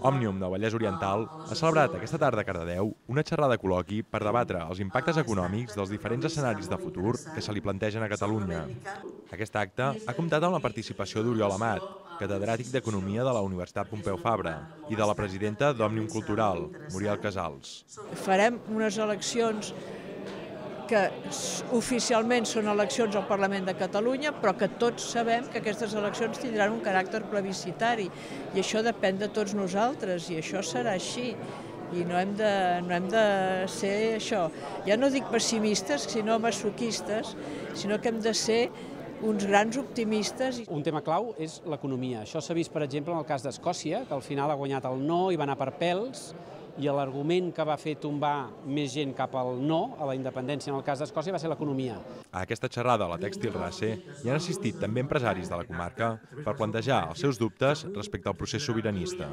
Òmnium del Vallès Oriental ha celebrat aquesta tarda a Cardedeu una xerrada col·loqui per debatre els impactes econòmics dels diferents escenaris de futur que se li plantegen a Catalunya. Aquest acte ha comptat amb la participació d'Oriol Amat, catedràtic d'Economia de la Universitat Pompeu Fabra, i de la presidenta d'Òmnium Cultural, Muriel Casals. Farem unes eleccions que oficialment són eleccions al Parlament de Catalunya, però que tots sabem que aquestes eleccions tindran un caràcter plebiscitari i això depèn de tots nosaltres i això serà així. I no hem de ser això, ja no dic pessimistes, sinó masoquistes, sinó que hem de ser uns grans optimistes. Un tema clau és l'economia. Això s'ha vist, per exemple, en el cas d'Escòcia, que al final ha guanyat el no i va anar per pèls, i l'argument que va fer tombar més gent cap al no, a la independència en el cas d'Escòcia, va ser l'economia. A aquesta xerrada a la Tèxtil Race hi han assistit també empresaris de la comarca per plantejar els seus dubtes respecte al procés sobiranista.